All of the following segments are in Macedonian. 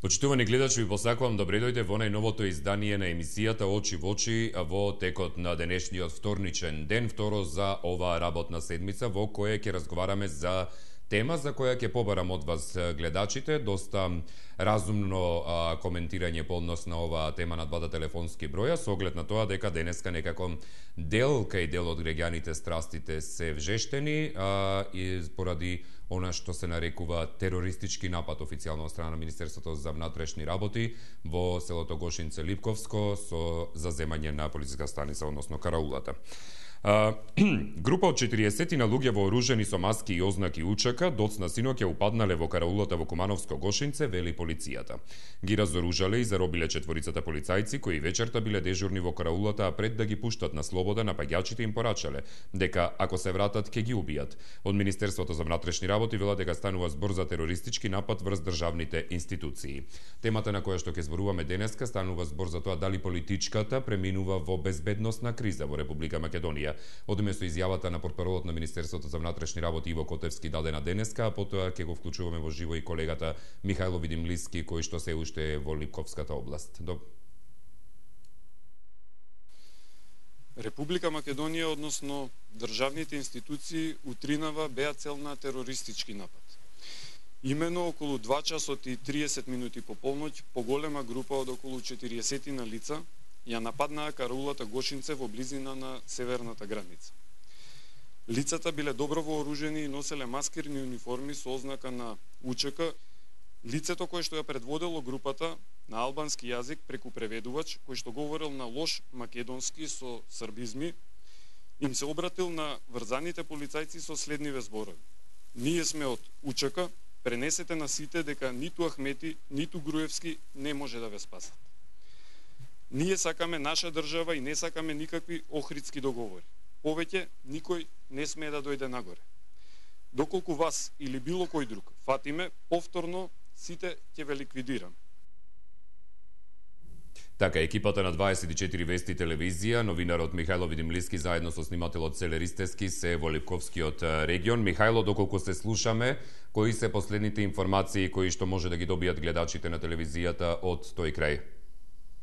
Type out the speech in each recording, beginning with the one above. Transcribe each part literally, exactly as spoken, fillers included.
Почитувани гледачи, ви посакувам добре дојде во најновото издание на емисијата Очи во очи во текот на денешниот вторничен ден, второ за оваа работна седмица, во која ќе разговараме за тема за која ќе побарам од вас гледачите, доста разумно а, коментирање по однос на оваа тема на двата телефонски броја, со оглед на тоа дека денеска некако дел кај дел од граѓаните страстите се вжештени а, и поради она што се нарекува терористички напад официјално од страна на Министерството за внатрешни работи во селото Гошинце Липковско со заземање на полициска станица, односно караулата. Uh, група од четириесет на луѓе вооружени со маски и ознаки УЧК доцна синоќа упаднале во караулата во Кумановско Гошинце, вели полицијата. Ги разоружале и заробиле четворицата полицајци кои вечерта биле дежурни во караулата, а пред да ги пуштат на слобода, напаѓачите им порачале дека ако се вратат ќе ги убијат. Од Министерството за внатрешни работи велат дека станува збор за терористички напад врз државните институции. Темата на која што ќе зборуваме денеска станува збор за тоа дали политичката преминува во безбедносна криза во Република Македонија. Одиме со изјавата на портпаролот на Министерството за внатрешни работи Иво Котевски дадена денеска, а потоа ќе го вклучуваме во живо и колегата Михајло Видимлиски, кој што се уште е во Липковската област. Доб... Република Македонија, односно државните институции, утринава беа цел на терористички напад. Имено околу два часот и триесет минути по полноќ, поголема група од околу четириесет на лица ја нападнаа караулата Гошинце во близина на северната граница. Лицата биле добро вооружени и носеле маскирни униформи со ознака на УЧК. Лицето кое што ја предводело групата на албански јазик преку преведувач, кој што говорил на лош македонски со србизми, им се обратил на врзаните полицајци со следниве зборови: "Ние сме од УЧК, пренесете на сите дека ниту Ахмети, ниту Груевски не може да ве спасат. Ние сакаме наша држава и не сакаме никакви охридски договори. Повеќе никој не смее да дојде нагоре. Доколку вас или било кој друг фатиме, повторно сите ќе ве ликвидираме." Така, екипата на дваесет и четири Вести телевизија, новинарот Михајло Видимлиски заедно со снимателот Целе Ристевски се во Липковскиот регион. Михајло, доколку се слушаме, кои се последните информации кои што може да ги добијат гледачите на телевизијата од тој крај?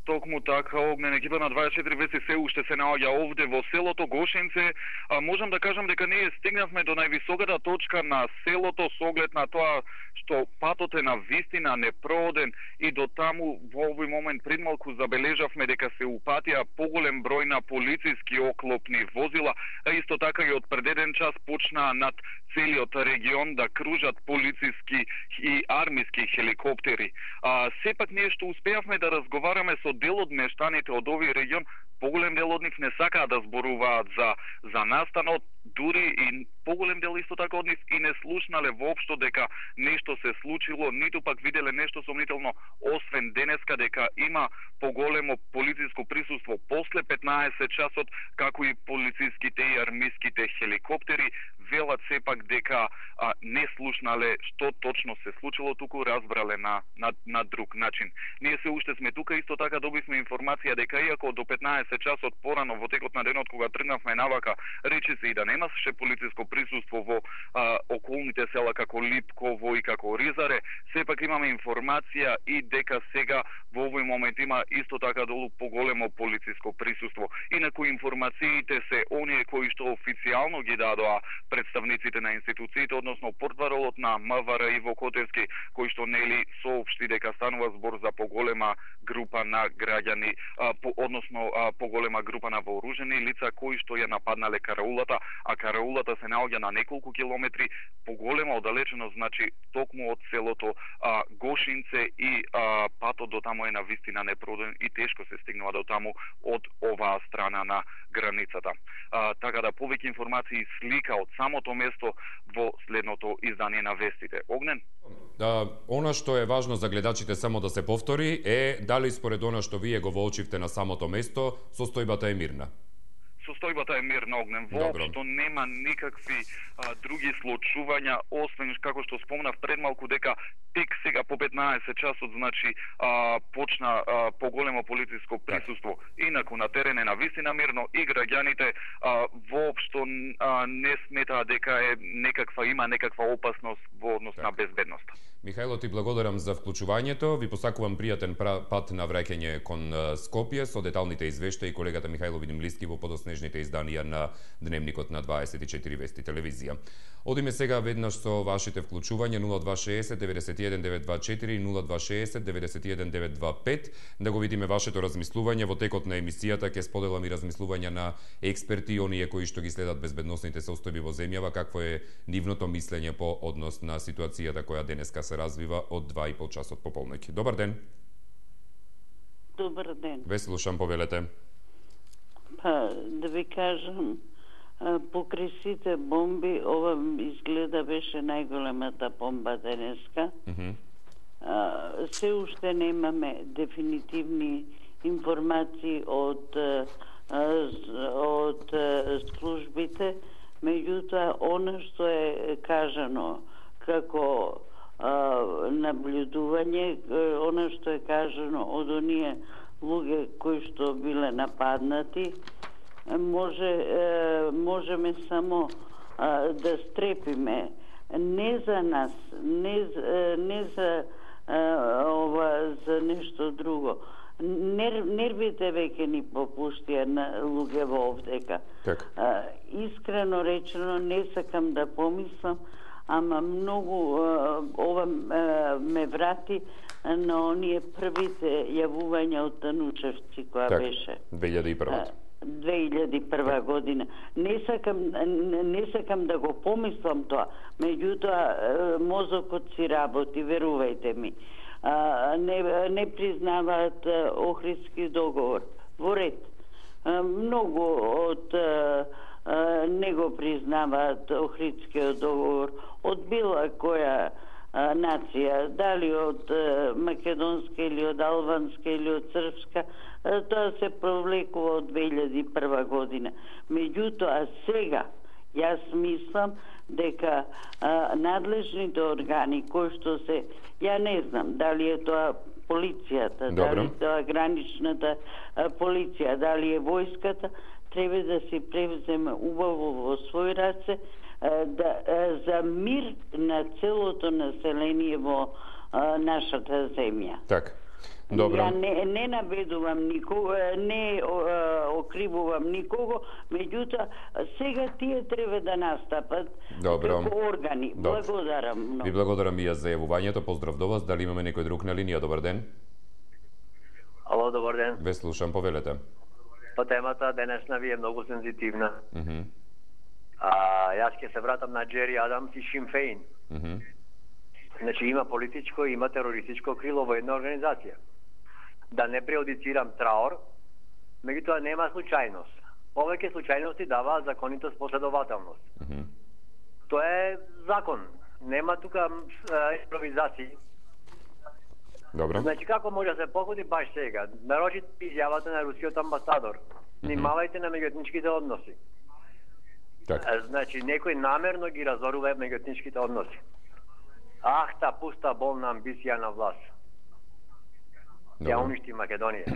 Токму така, Огнен, екипа на дваесет и четири Вести се уште се наоѓа овде во селото Гошинце. А, можам да кажам дека ние стигнавме до највисоката точка на селото со оглед на тоа што патот е на вистина непрооден и до таму во овој момент предмалку забележавме дека се упатија поголем број на полициски оклопни возила, а исто така и од пред еден час почнаа над целиот регион да кружат полициски и армиски хеликоптери. А, сепак ние што успеавме да разговараме со дел од мештаните од овој регион, поголем дел од нив не сакаат да зборуваат за за настанот, дури и поголем дел исто така од нив и не слушнале воопшто дека нешто се случило, ниту пак виделе нешто сомнително, освен денеска дека има поголемо полициско присуство после петнаесет часот, како и полициските и армиските хеликоптери. Велат сепак дека а, не слушнале што точно се случило, туку разбрале на, на, на друг начин. Ние се уште сме тука, исто така добивме информација дека иако до петнаесет часот порано во текот на денот кога тргнавме навака, речи се и да немаше полициско присуство во а, околните села како Липково и како Ризаре, сепак имаме информација и дека сега во овој момент има исто така долу поголемо полициско присуство. Инаку информациите се оние кои што официјално ги дадоа представниците на институциите, односно портпаролот на МВР Иво Котевски, кој што нели соопшти дека станува збор за поголема група на граѓани, а, по, односно а, поголема група на вооружени лица кои што ја нападнале караулата, а караулата се наоѓа на неколку километри, поголема оддалеченост, значи токму од селото а, Гошинце и а, патот до таму е на вистина непрооден и тешко се стигнува до таму од оваа страна на границата. А, така да повеќе информации и слика од самото место во следното издание на Вестите. Огнен? Да, она што е важно за гледачите само да се повтори е дали според она што вие го воочивте на самото место, состојбата е мирна. состојбата е мир на огнен. Воопшто нема никакви а, други случувања, освен како што спомнав пред малку дека тек сега по петнаесет часот, значи а, почна а, поголемо полициско присуство. Инаку на терен е навистина мирно и граѓаните а, воопшто а, не сметаа дека е некаква има некаква опасност во однос так на безбедноста. Михајло, ти благодарам за вклучувањето. Ви посакувам пријатен пат на враќање кон Скопје со деталните извештаи колегата Михајло Видимлиски во подоснежните изданија на Дневникот на дваесет и четири Вести телевизија. Одиме сега веднаш со вашите вклучувања нула два шеесет деветдесет и еден девет два четири и нула два шеесет деветдесет и еден девет два пет да го видиме вашето размислување. Во текот на емисијата ќе споделам и размислувања на експерти, оние кои што ги следат безбедносните состојби во земјава, какво е нивното мислење по однос на ситуацијата која денеска се развива од два и пол часот пополноќ. Добар ден. Добар ден. Ве слушам, повелете. Па, да ви кажам, покрај сите бомби, ова изгледа беше најголемата бомба денеска. Mm -hmm. а, се уште немаме дефинитивни информации од, од службите, меѓутоа, она што е кажано како наблюдување, она што е кажано од оние луѓе кои што биле нападнати, може можеме само да стрепиме не за нас, не не за ова за нешто друго. Нер, нервите веќе ни попуштија на луѓе овдека. Искрено речено, не сакам да помислам, ама многу ова ме врати на оние првите јавувања од Танучевци која так, беше две илјади и прва две илјади и прва година. Не сакам не сакам да го помислам тоа, меѓутоа мозокот си работи, верувајте ми. Не не признаваат Охридски договор. Во ред. Многу од не го признаваат Охридскиот договор од било која а, нација, дали од а, македонска или од албанска или од српска, а, тоа се провлекува од две илјади и прва година. Меѓутоа сега јас мислам дека а, надлежните органи кои што се, ја не знам дали е тоа полицијата, Добро. дали е тоа граничната а, полиција, дали е војската, треба да се превземе убаво во свој раце да, за мир на целото население во а, нашата земја. Так. Добро. Ја не, не наведувам никого, не о, окривувам никого, меѓутоа сега тие треба да настапат Добро. како органи. Добро. Благодарам многу. Ви благодарам и јас за јавувањето. Поздрав до вас. Дали имаме некој друг на линија? Добар ден. Ало, добар ден. Ве слушам, повелете. По темата денесна ви е многу сензитивна. Mm -hmm. А, јас ќе се вратам на Джери Адамс и Шим Фейн. Mm -hmm. Значи има политичко и има терористичко крило во една организација. Да не преодицирам траор, меѓутоа нема случајност. Повеќе случајности дава законитост, последователност. Mm -hmm. Тоа е закон. Нема тука импровизации. Добро. Значи како може да се погоди баш сега? Нарочит изјавата на рускиот амбасадор. Внимавајте на меѓуетничките односи. Так. Значи некој намерно ги разорува меѓуетничките односи. Ах, та пуста болна амбиција на власт. Ја уништи Македонија.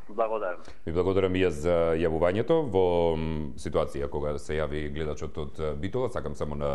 Благодарам. Ви благодарам и јас за јавувањето. Во ситуација кога се јави гледачот од Битола, сакам само на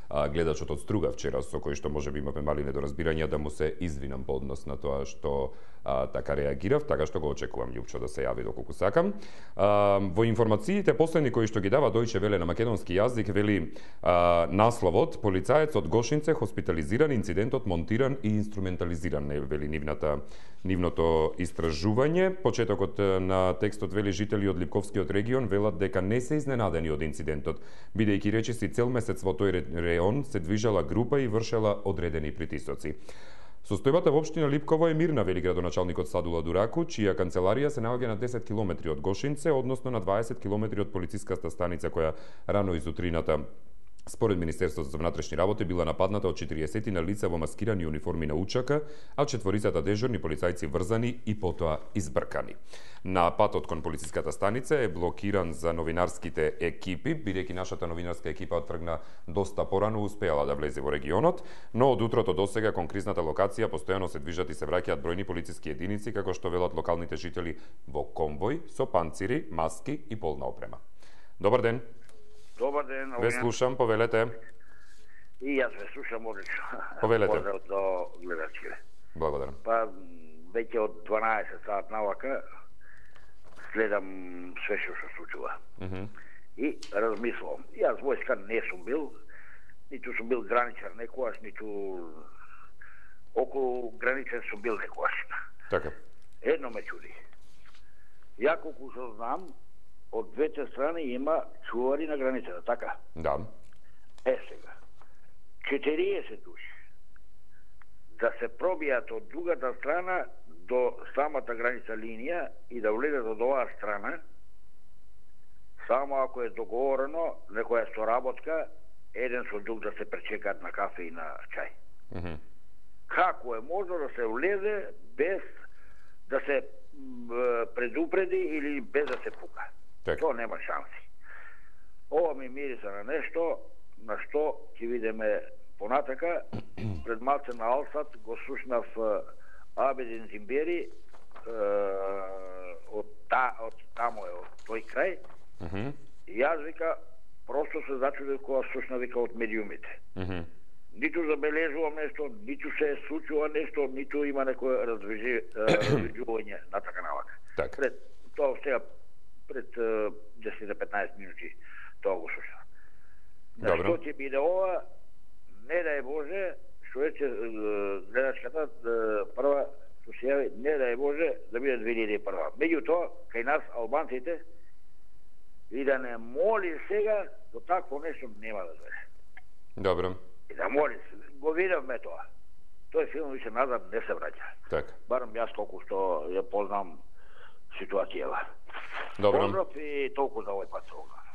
гледачот од Струга вчера, со кој што може би имаме мали недоразбирања, да му се извинам по однос на тоа што а, така реагирав, така што го очекувам Љупчо да се јави доколку сакам. А, во информациите последни кои што ги дава Дојче Веле на македонски јазик, вели а, насловот полицаец од Гошинце хоспитализиран, инцидентот монтиран и инструментализиран, не вели нивната нивното истражување. Почетокот на текстот вели жители од Липковскиот регион велат дека не се изненадени од инцидентот, бидејќи речиси цел месец во тој регион се движала група и вршела одредени притисоци. Состојбата во општина Липково е мирна, вели градоначалникот Садула Дураку, чија канцеларија се наоѓа на десет километри од Гошинце, односно на дваесет километри од полициската станица која рано изутрината Според Министерството за внатрешни работи била нападната од четириесет на лица во маскирани униформи на учака, а четворицата дежурни полицајци врзани и потоа избркани. На патот кон полициската станица е блокиран за новинарските екипи, бидејќи нашата новинарска екипа оттргна доста порано, успеала да влезе во регионот, но од утрото досега кон кризната локација постојано се движат и се враќаат бројни полициски единици, како што велат локалните жители, во конвој со панцири, маски и полна опрема. Добар ден. Добар ден. Ве слушам, повелете. И јас ве слушам одлично. Повелете. Поздрав до гледачите. Благодарам. Па, веќе од дванаесет саат навака следам све што се случува. Mm -hmm. И размислувам. Јас војска не сум бил, ниту сум бил граничар некојаш, ниту околу граничен сум бил некојаш. Така. Едно ме чуди. Ја колку што знам, од двете страни има чувари на границата, така? Да. Е сега. четириесет души да се пробијат од другата страна до самата граница линија и да влезат од оваа страна, само ако е договорено некоја соработка, еден со друг да се пречекаат на кафе и на чај. Mm -hmm. Како е можно да се влезе без да се предупреди или без да се пука? Так. То нема шанси. Ова ми мириса на нешто на што ќе видиме понатака. Пред малце на Алсат го слушнав Абедин Зимбери од, та, од тамо е, од тој крај. Mm -hmm. И јас вика, просто се зачудив кога слушна вика од медиумите. Mm -hmm. Ниту забележувам нешто, ниту се случува нешто, ниту има некој развижување на така навака. Так. Пред тоа сега пред десет до петнаесет минути тоа го слушав. На што ќе биде ова, не дај Боже, што рече гледачката прва што се јави, не дај Боже да биде две илјади и прва. Меѓутоа, кај нас албанците, и да не моли сега, до такво нешто нема да дојде. Добро. И да моли, го видевме тоа. Тој филм више назад не се враќа. Така. Барам јас колку што ја познам ситуацијава. Добро. Поздрав и толку за овој пат.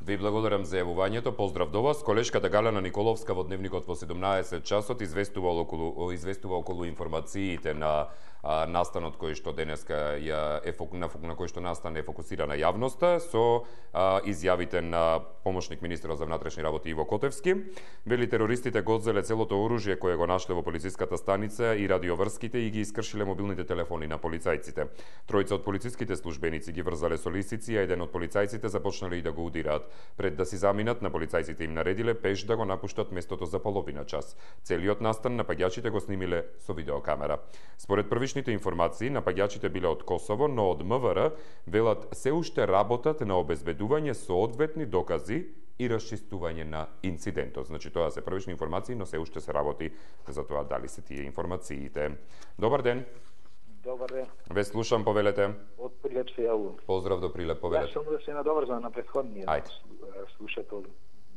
Ви благодарам за јавувањето. Поздрав до вас. Колешката Галена Николовска во Дневникот во седумнаесет часот известува околу известува околу информациите на а, настанот кој што денеска ја е на, на кој што настан е фокусира на јавноста со а, изјавите на помошник министерот за внатрешни работи Иво Котевски. Вели терористите го одзеле целото оружје кое го нашле во полициската станица и радиоврските и ги искршиле мобилните телефони на полицајците. Тројца од полициските службеници ги врзале со лисици, а еден од полицајците започнале и да го удираат. Пред да си заминат, на полицајците им наредиле пеш да го напуштат местото за половина час. Целиот настан напаѓачите го снимиле со видеокамера. Според првичните информации, напаѓачите биле од Косово, но од МВР велат се уште работат на обезбедување соодветни докази и расчистување на инцидентот. Значи, тоа се првични информации, но се уште се работи за тоа дали се тие информациите. Добар ден. Добар ден. Ве слушам, повелете. Од Прилеп се јавувам. Поздрав до Прилеп, повелете. Јас сум да се надоврзам на претходниот Ајде. слушател,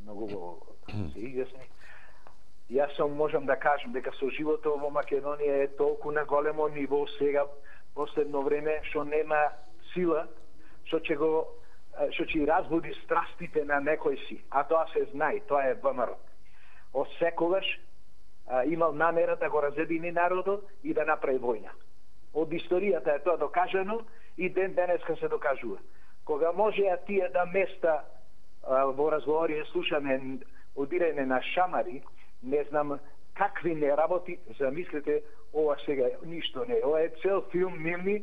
многу го се изјасни. Јас сум можам да кажам дека со животот во Македонија е толку на големо ниво сега последно време што нема сила што ќе го што ќе разбуди страстите на некој си, а тоа се знае, тоа е ВМРО. Од секогаш а, имал намера да го разедини народот и да направи војна. Од историјата е тоа докажано и ден денеска се докажува. Кога можеа тие да места а, во разговори слушаме одирање на шамари, не знам какви не работи, замислете, ова сега ништо не. Ова е цел филм милни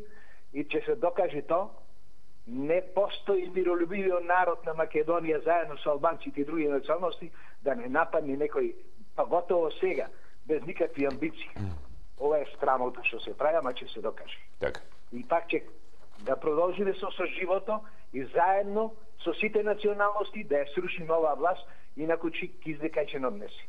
и ќе се докаже тоа. Не постои миролюбивиот народ на Македонија заедно со албанците и други националности да не нападне некој, па готово сега, без никакви амбиции. Ова е срамото што се прави, ама ќе се докаже. Така. И пак ќе да продолжиме со соживото и заедно со сите националности да ја срушиме оваа власт, инаку ќе ќе издекај ќе однеси.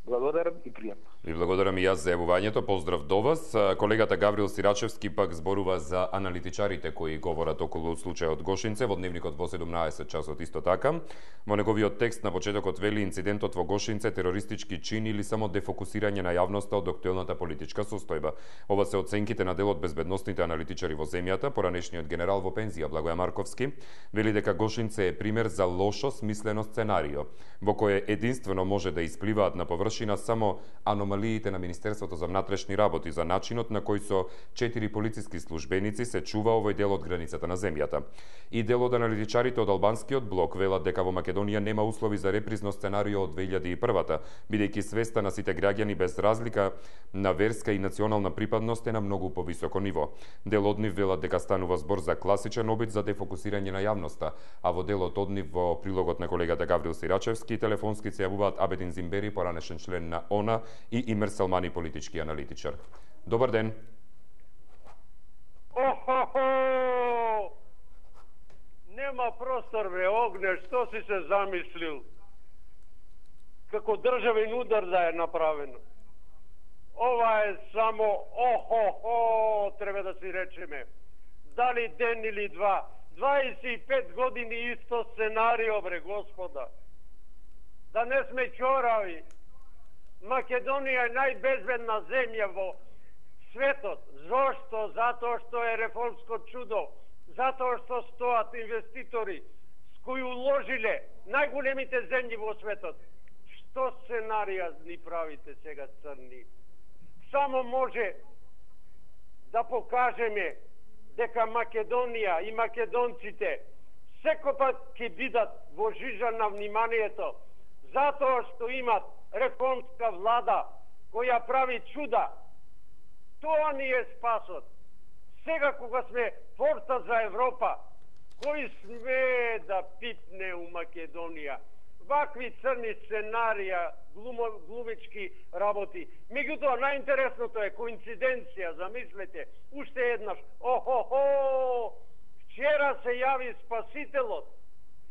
Благодарам и пријатно. Ви благодарам и јас за јавувањето. Поздрав до вас. Колегата Гаврил Сирачевски пак зборува за аналитичарите кои говорат околу случајот Гошинце во дневникот во седумнаесет часот исто така. Во неговиот текст на почетокот вели инцидентот во Гошинце терористички чин или само дефокусирање на јавноста од актуелната политичка состојба. Ова се оценките на дел од безбедносните аналитичари во земјата. Поранешниот генерал во пензија Благоја Марковски вели дека Гошинце е пример за лошо смислено сценарио, во кое единствено може да испливаат на површина само аномалиите на Министерството за внатрешни работи за начинот на кој со четири полициски службеници се чува овој дел од границата на земјата. И дел од аналитичарите од албанскиот блок велат дека во Македонија нема услови за репризно сценарио од две илјади и прва, бидејќи свеста на сите граѓани без разлика на верска и национална припадност е на многу повисоко ниво. Дел од нив велат дека станува збор за класичен обид за дефокусирање на јавноста, а во делот од нив во прилогот на колегата Гаврил Сирачевски телефонски се јавуваат Абедин Зимбери, поранешен член на ОНА, и Имер Салмани, политички аналитичар. Добар ден. Охо-хо! Нема простор, бре, Огне, што си се замислил? Како државен удар да е направено. Ова е само охо-хо, треба да си речеме. Дали ден или два? дваесет и пет години исто сценарио, бре, господа. Да не сме чорави. Македонија е најбезбедна земја во светот. Зошто? Затоа што е реформско чудо. Затоа што стоат инвеститори с кои уложиле најголемите земји во светот. Што сценарија ни правите сега, црни? Само може да покажеме дека Македонија и македонците секогаш ќе бидат во жижа на вниманието, затоа што имат реформска влада која прави чуда. Тоа ни е спасот. Сега кога сме форта за Европа, кој сме да пипне у Македонија? Вакви црни сценарија, глумо, глумички работи. Меѓутоа, најинтересното е коинциденција, замислете, уште еднаш. Охо-хо! Вчера се јави Спасителот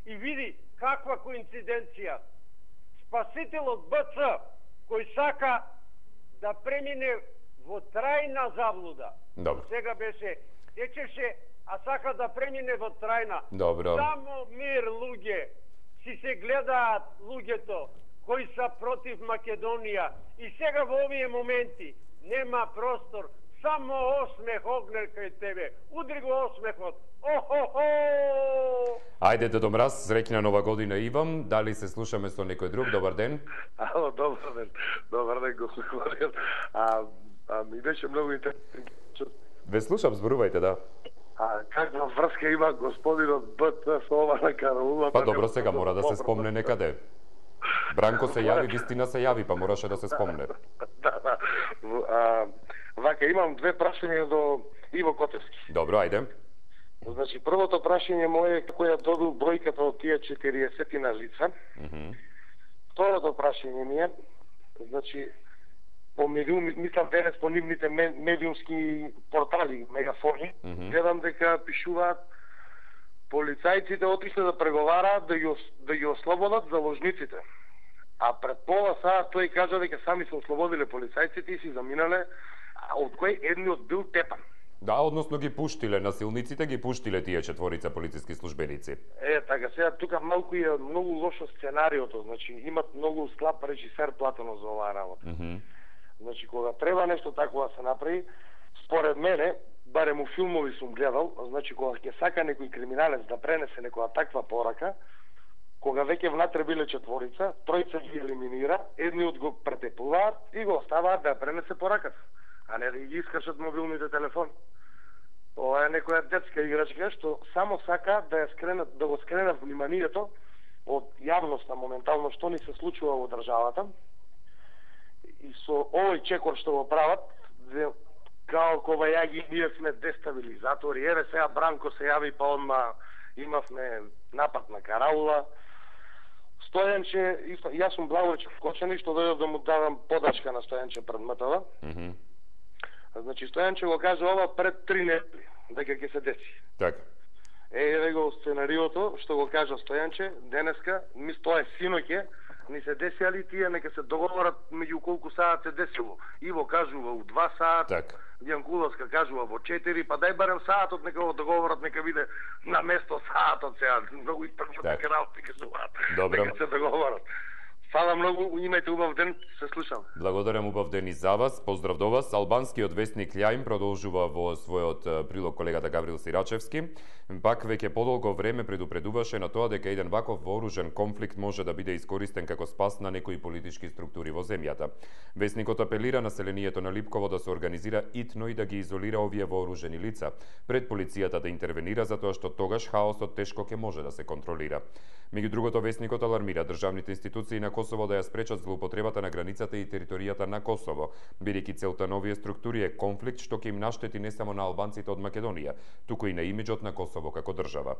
и види каква коинциденција. Спасителот БЦ, кој сака да премине во трајна заблуда. Добро. Сега беше, течеше, а сака да премине во трајна. Добро. Само мир, луѓе. Си се гледаат луѓето кои са против Македонија. И сега во овие моменти нема простор. Само осмех, Огнер, кај тебе. Удри го осмехот. Охо-хо! Ајде, Дедо Мраз, среќна нова година и вам. Дали се слушаме со некој друг? Добар ден. Ало, добар ден. Добар ден, господин. А, а ми беше многу интересно. Ве слушам, зборувајте, да. А каква врска има господинот БТ со ова на караулата? Па добро, сега мора да се спомне некаде. Бранко се јави, вистина се јави, па мораше да се спомне. Да, да. А, вака, имам две прашања до Иво Котевски. Добро, ајде. Значи, првото прашање моје е како ја добил бројката од тие четириесет на лица. Mm -hmm. Второто прашање ми е, значи, по медиум, мислам денес по нивните медиумски портали, мегафони, mm -hmm. гледам дека пишуваат полицајците отишле да преговараат да ги, да ги ослободат заложниците. А пред пола саат тој кажа дека сами се ослободиле полицајците и си заминале, од кој едниот бил тепан. Да, односно ги пуштиле насилниците, ги пуштиле тие четворица полициски службеници. Е, така, сега тука малку е многу лошо сценариото, значи имат многу слаб режисер платено за оваа работа. Mm -hmm. Значи, кога треба нешто такова да се направи, според мене, барем у филмови сум гледал, значи, кога ќе сака некој криминалец да пренесе некоја таква порака, кога веќе внатре биле четворица, тројца ги елиминира, едниот го претепуваат и го оставаат да ја пренесе пораката, а не да ги искашат мобилните телефони. Ова е некоја детска играчка што само сака да ја скренат, да го скренат вниманието од јавноста моментално што ни се случува во државата. И со овој чекор што го прават, као кога ја ги ние сме дестабилизатори, еве сега Бранко се јави, па одма имавме напад на караула. Стојанче, јас сум Благојчев Кочани, што дојдов да му давам подачка на Стојанче пред МТВ. Mm -hmm. Значи, Стојанче го кажа ова пред три недели, дека ќе се деси. Така. Е, еве го сценариото, што го кажа Стојанче, денеска, мис тоа е синоќе, ни се десили тие, нека се договорат меѓу колку саат се десило. Иво кажува у два саат, так. Јанкуловска кажува во четири, па дај барем саатот нека го договорат, нека биде на место саатот сега. Многу и прво нека работи кажуваат. Нека се договорат. Фала многу, имајте убав ден, се слушам. Благодарам, убав ден и за вас. Поздрав до вас. Албанскиот вестник Лјајм продолжува во својот прилог колегата Гаврил Сирачевски. Пак веќе подолго време предупредуваше на тоа дека еден ваков вооружен конфликт може да биде искористен како спас на некои политички структури во земјата. Вестникот апелира населението на Липково да се организира итно и да ги изолира овие вооружени лица, пред полицијата да интервенира затоа што тогаш хаосот тешко ќе може да се контролира. Меѓу другото, вестникот алармира државните институции на Косово да ја спречат злоупотребата на границата и територијата на Косово, бидејќи целта на овие структури е конфликт што ќе им наштети не само на албанците од Македонија, туку и на имиџот на Косово како држава.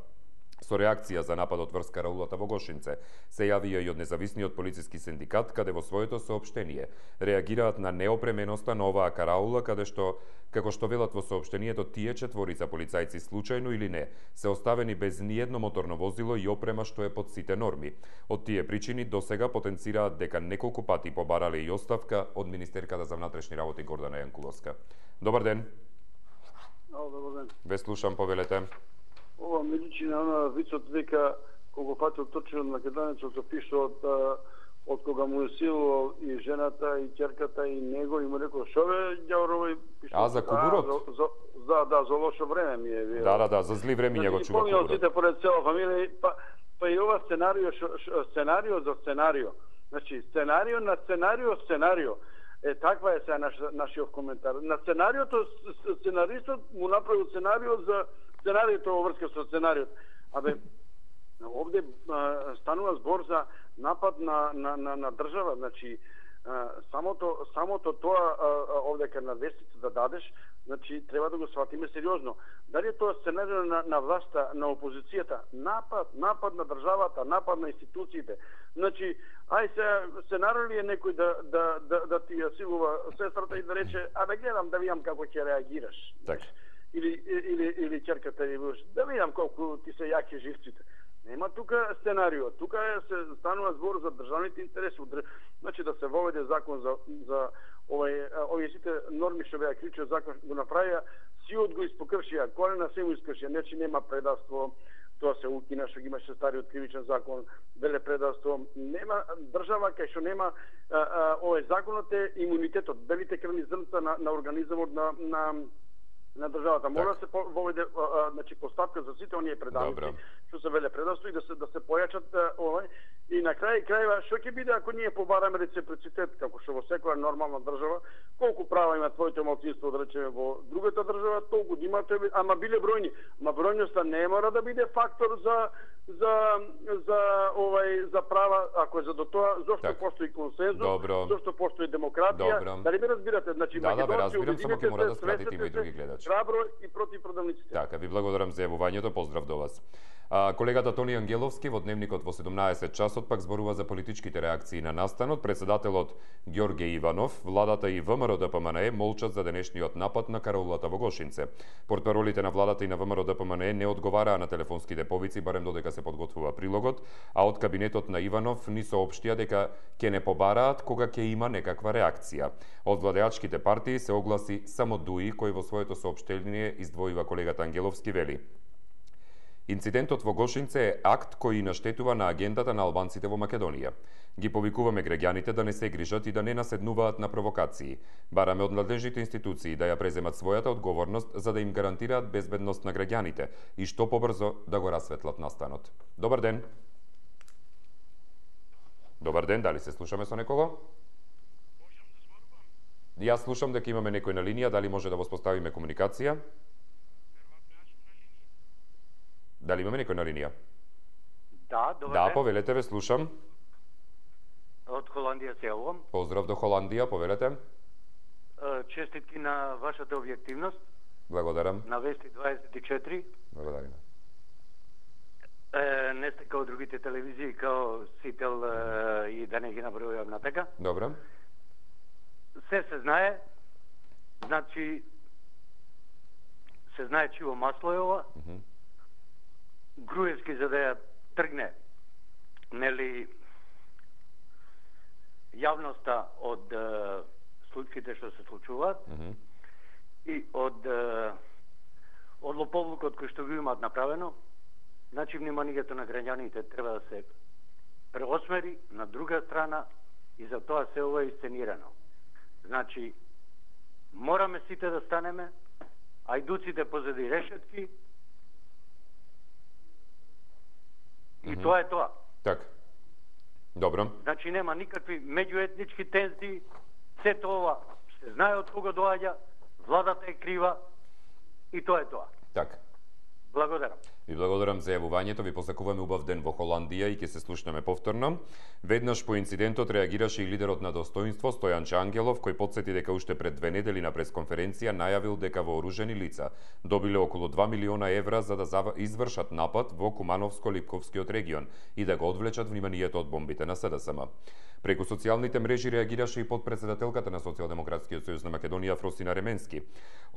Со реакција за нападот врз караулата во Гошинце се јавија и од независниот полициски синдикат, каде во своето соопштение реагираат на неопременоста на оваа караула, каде што, како што велат во соопштението, тие четворица полицајци случајно или не се оставени без ниедно моторно возило и опрема што е под сите норми. Од тие причини досега потенцираат дека неколку пати побарале и оставка од министерката за внатрешни работи Гордана Јанкуловска. Добар ден. Добар ден. Ве слушам, повелете. Ова ми личи на она вицот дека колку пати отточен од македонецот се пише од од кога му е силувал и жената и ќерката и него и му рекол шове ѓаврови пише. А за кубурот? За, за, за да, за лошо време ми е вие. Да, да, да, за зли времиња го чува кубурот. Сите поред цела фамилија, па па и ова сценарио сценарио за сценарио. Значи сценарио на сценарио сценарио. Е, таква е сега наш, нашиот коментар. На сценариото, сценаристот му направил сценарио за сценариото во врска со сценариот. Абе, овде а, станува збор за напад на, на, на, на држава. Значи, а, самото, самото тоа а, овде кај на вестица да дадеш, значи, треба да го сватиме сериозно. Дали е тоа сценарио на, на власта, на опозицијата? Напад, напад на државата, напад на институциите. Значи, ај се сценарио ли е некој да, да, да, да ти ја силува сестрата и да рече, абе гледам да видам како ќе реагираш. Так. Или, или, или ќерката или да видам колку ти се јаки живците. Нема тука сценарио. Тука е, се станува збор за државните интереси. Значи да се воведе закон за, за овај, овие сите норми што беа кричиот закон го направија, сиот го испокршија, колена се му искршија, нечи нема предавство, тоа се укина што ги имаше стариот кривичен закон, веле предавство, нема држава кај што нема а, а, овој законот е имунитетот, белите крвни зрнца на, на организмот на, на на државата. Мора да се воведе значи поставка за сите оние предавници што се веле предавство и да се да се појачат овој и на крај крајва што ќе биде ако ние побараме реципроцитет како што во секоја нормална држава, колку права има твоето малцинство да речеме во другата држава, толку да има тој, ама биле бројни, ама бројноста не мора да биде фактор за за за овај за права, ако е за до тоа зошто так. Постои консензус, Добро. Зошто постои демократија, Добро. Дали ме разбирате? Значи да, да, бе, разбирам, само ќе мора да скратите и други гледачи. Храбро и против продавниците. Така, ви благодарам за јавувањето, поздрав до вас. А, колегата Тони Ангеловски во Дневникот во седумнаесет часот пак зборува за политичките реакции на настанот. Председателот Ѓорге Иванов, владата и ВМРО Д П М Н Е молчат за денешниот напад на караулата во Гошинце. Портпаролите на владата и на ВМРО Д П М Н Е не одговараа на телефонските повици, барем додека се подготвува прилогот, а од кабинетот на Иванов ни соопштија дека ќе не побараат кога ќе има некаква реакција. Од владеачките партии се огласи само Дуи, кој во своето соопштение издвојува колегата Ангеловски, вели: Инцидентот во Гошинце е акт кој наштетува на агендата на албанците во Македонија. Ги повикуваме граѓаните да не се грижат и да не наседнуваат на провокации. Бараме од надлежните институции да ја преземат својата одговорност за да им гарантираат безбедност на граѓаните и што побрзо да го расветлат настанот. Добар ден. Добар ден, дали се слушаме со некого? Јас слушам дека имаме некој на линија, дали може да воспоставиме комуникација? Дали имаме некој на линија? Да, добар да, ден. Да, повелете, ве слушам. Од Холандија се јавувам. Поздрав до Холандија, повелете. Честитки на вашата објективност. Благодарам. На Вести дваесет и четири. Благодарам. Е, не сте као другите телевизии, као Сител е, и да не ги набројувам на така. Добре. Се се знае, значи се знае чиво масло е ова. Uh -huh. Груевски за да ја тргне, нели, јавноста од е, случаите што се случуваат mm -hmm. и од е, од лоповлукот кој што го имаат направено. Значи, вниманието на граѓаните треба да се преосмери на друга страна и за тоа се ова еисценирано. Значи, мораме сите да станеме, ајдуците позади решетки, и mm -hmm. тоа е тоа. Така. Добро. Значи, нема никакви меѓуетнички тензии, сето ова се знае од кого доаѓа, владата е крива и тоа е тоа. Така. Благодарам. Ви благодарам за јавувањето, ви посакуваме убав ден во Холандија и ќе се слушнеме повторно. Веднаш по инцидентот реагираше и лидерот на Достоинство Стојанче Ангелов, кој потсети дека уште пред две недели на пресконференција најавил дека вооружени лица добиле околу два милиона евра за да извршат напад во Кумановско-Липковскиот регион и да го одвлечат вниманието од бомбите на СДСМ. Преку социјалните мрежи реагираше и подпредседателката на Социјалдемократскиот сојуз на Македонија Фросина Ременски.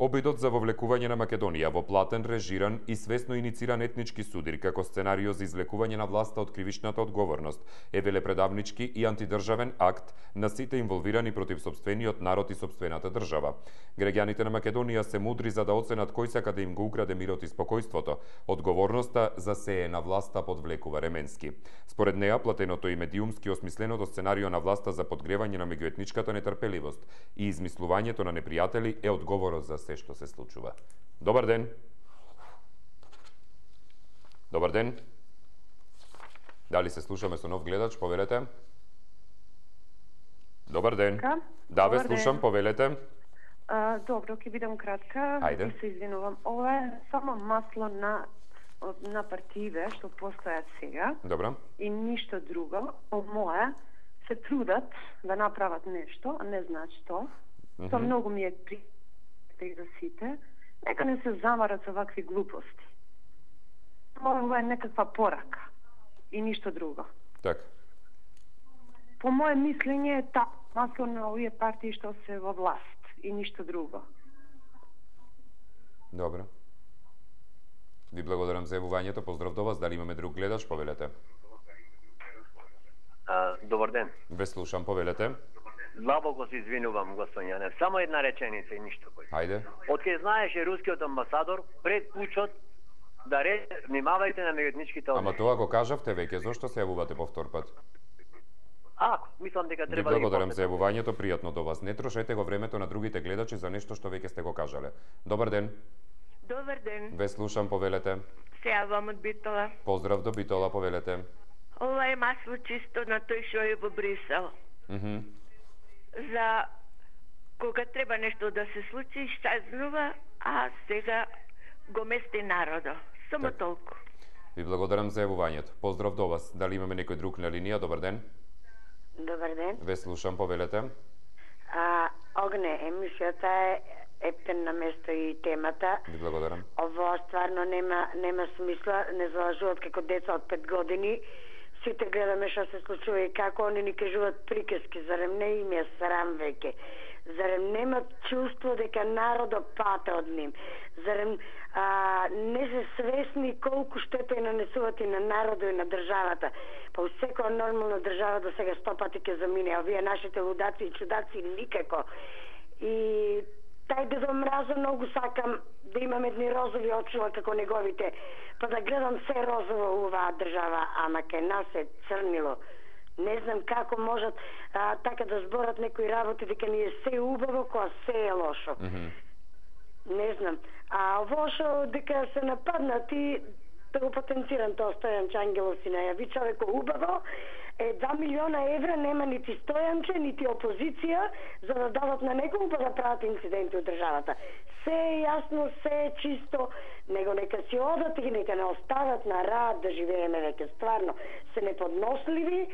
Обидот за вовлекување на Македонија во платен, режиран и свесно инициран етнички судир како сценарио за извлекување на власта од кривичната одговорност е велепредавнички и антидржавен акт на сите инволвирани против сопствениот народ и сопствената држава. Граѓаните на Македонија се мудри за да оценат кој сака да им го украде мирот и спокојството. Одговорноста за се е на власта, подвлекува Ременски. Според неа, платеното и медиумски осмисленото сценарио на власта за подгревање на меѓуетничката нетрпеливост и измислувањето на непријатели е одговорот за се што се случува. Добар ден. Добар ден. Дали се слушаме со нов гледач? Повелете. Добар ден. Ка? Да, ве Добар слушам, ден. повелете. А, добро, ќе бидам кратка. Ајде. И се извинувам. Ова е само масло на на партиите што постојат сега. Добро. И ништо друго. По мое се трудат да направат нешто, а не знаат што. Mm -hmm. Тоа многу ми е пријатно за сите. Нека не се замарат со вакви глупости. Ова е некаква порака и ништо друго. Така. По мое мислење е та масло на овие партии што се во власт и ништо друго. Добро. Ви благодарам за јавувањето. Поздрав до вас. Дали имаме друг гледач? Повелете. А, добар ден. Ве слушам, повелете. Длабоко се извинувам, господин Јанев. Само една реченица и ништо пој. Ајде. Од кај знаеше рускиот амбасадор пред пучот да ре, внимавајте на меѓуетничките односи. Ама тоа го кажавте веќе, зошто се јавувате повтор пат? Ако, мислам дека Ви треба да ги благодарам за јавувањето, пријатно до вас. Не трошете го времето на другите гледачи за нешто што веќе сте го кажале. Добар ден. Добар ден. Ве слушам, повелете. Се јавам од Битола. Поздрав до Битола, повелете. Ова е масло чисто на тој што е во Брисел. Mm -hmm. За кога треба нешто да се случи, сазнува, а сега го мести народо. Само так. Толку. Ви благодарам за јавувањето. Поздрав до вас. Дали имаме некој друг на линија? Добар ден. Добар ден. Ве слушам, повелете. А, Огне, емисијата е ептен на место и темата. Ви благодарам. Ово стварно нема нема смисла, не залажуваат како деца од пет години. Сите гледаме што се случува и како они ни кажуваат приказки, зарем не им е срам веќе. Зарем немат чувство дека народот пате од ним. Зарем а, не се свесни колку штета и нанесуваат и на народот и на државата. Па у секоја нормална држава до сега сто пати ќе замине, а вие нашите лудаци и чудаци никако. И тај Дедо Мразо многу сакам да имам едни розови очила како неговите, па да гледам се розово у оваа држава, ама кај нас е црнило. Не знам како можат а, така да зборат некои работи дека ни е се убаво, кога се е лошо. Mm -hmm. Не знам. А ово што дека се нападнати, да го потенцирам тоа Стојанче Ангелов си најави човеко убаво, е два милиона евра нема нити Стојанче, нити опозиција за да дадат на некој па да прават инциденти од државата. Се е јасно, се е чисто, него нека си одат и нека не остават на рад да живееме веќе. Стварно, се неподносливи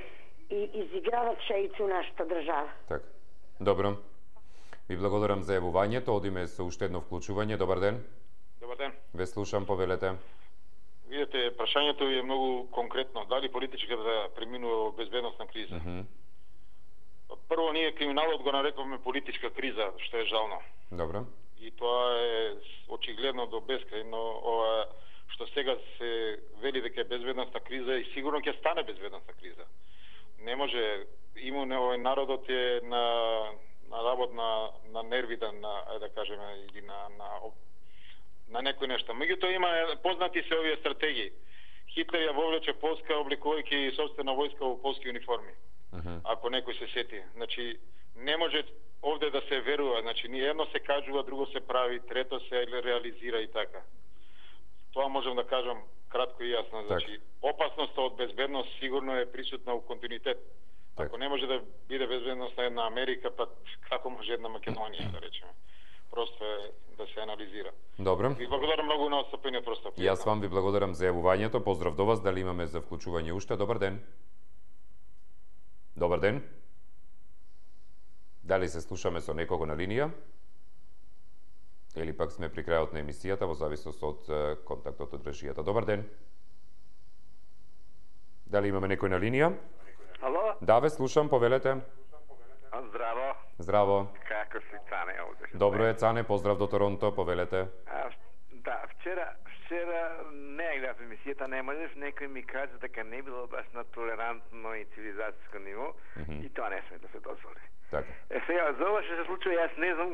и изиграват шејци у нашата држава. Така. Добро. Ви благодарам за јавувањето. Одиме со уште едно вклучување. Добар ден. Добар ден. Ве слушам, повелете. Видете, прашањето е многу конкретно. Дали политичката да преминува во безбедносна криза? Mm -hmm. Прво, ние криминалот го нарекуваме политичка криза, што е жално. Добро. И тоа е очигледно до бескрај, но ова што сега се вели дека е безбедносна криза и сигурно ќе стане безбедносна криза. Не може имуне овој народот е на на работ на на нервите, на да кажеме, или на на на некои нешта. Меѓутоа има познати се овие стратегии. Хитлер ја вовлече Полска обликувајќи собствена војска во полски униформи. Uh -huh. Ако некој се сети, значи не може овде да се верува, значи ни едно се кажува, друго се прави, трето се реализира и така. Тоа можам да кажам кратко и јасно, значи опасноста од безбедност сигурно е присутна у континуитет. Так. Ако не може да биде безбедност на една Америка, па како може една Македонија, да речеме. Просто е да се анализира. Добро. Ви благодарам многу на отстапениот простор. Јас вам ви благодарам за јавувањето. Поздрав до вас. Дали имаме за вклучување уште? Добар ден. Добар ден. Дали се слушаме со некого на линија? Или пак сме при крајот на емисијата во зависност од контактот од режијата. Добар ден. Дали имаме некој на линија? Ало? Да, ве слушам, повелете. Здраво. Здраво. Како си, Цане, овде? Добро е, Цане, поздрав до Торонто, повелете. А, да, вчера, вчера не ја гледав емисијата, не можеш, некој ми кажа дека не било баш на толерантно и цивилизацијско ниво, mm -hmm. и тоа не сме да се дозволи. Така. Е, сега, за ова што се случува, јас не знам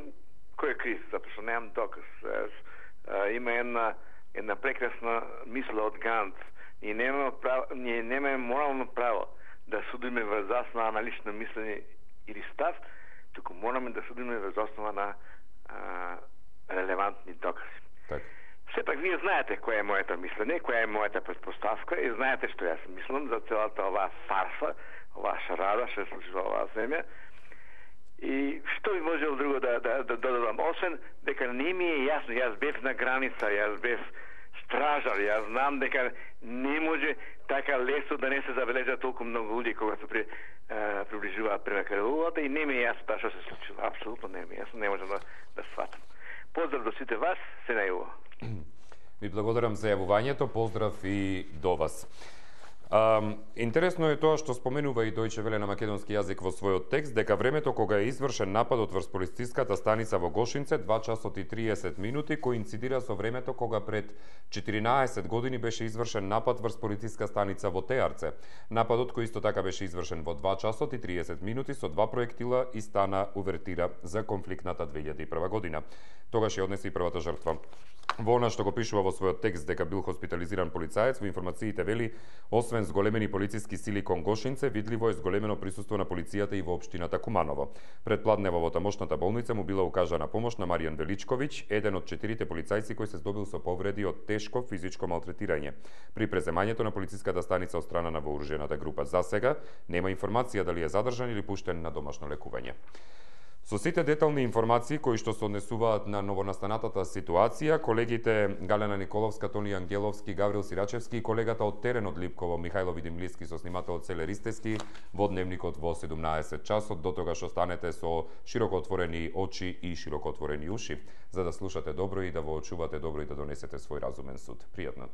кој е крив, затоа што немам доказ. А, има една, една прекрасна мисла од Гант. Ние немаме, право, ние немаме морално право да судиме врз основа на лично мислење или став, туку мораме да судиме врз основа на а, релевантни докази. Так. Сепак вие знаете која е моето мислење, која е мојата предпоставка и знаете што јас мислам за целата оваа фарса, оваа шарада што се случува во оваа земја. И што би можел друго да, да, да додадам, освен дека не ми е јасно, јас бев на граница, јас бев стражар, јас знам дека не може така лесно да не се забележат толку многу луѓе кога се при, а, приближуваат према кралувата и не ми е јасно таа што се случува. Апсолутно не ми е јасно, не можам да, да сватам. Поздрав до сите вас, се најува. Ви благодарам за јавувањето, поздрав и до вас. Um, интересно е тоа што споменува и Дојче Веле на македонски јазик во својот текст, дека времето кога е извршен нападот врз полициската станица во Гошинце, два часот и триесет минути, коинцидира со времето кога пред четиринаесет години беше извршен напад врз полициска станица во Теарце. Нападот кој исто така беше извршен во два часот и триесет минути со два проектила и стана увертира за конфликтната две илјади и прва година. Тогаш ја однесе и првата жртва. Во она што го пишува во својот текст дека бил хоспитализиран полицаец, во информациите вели, освен зголемени полициски сили кон Гошинце, видливо е зголемено присуство на полицијата и во општината Куманово. Пред пладнево во тамошната болница му била укажана помош на Маријан Величковиќ, еден од четирите полицајци кој се здобил со повреди од тешко физичко малтретирање. При преземањето на полициската станица од страна на вооружената група. За сега нема информација дали е задржан или пуштен на домашно лекување. Со сите детални информации кои што се однесуваат на новонастанатата ситуација, колегите Галена Николовска, Тони Ангеловски, Гаврил Сирачевски и колегата од терен од Липково, Михајло Видимлиски со снимателот Целе Ристески во Дневникот во седумнаесет часот, до тогаш останете со широко отворени очи и широко отворени уши, за да слушате добро и да воочувате добро и да донесете свој разумен суд. Пријатно.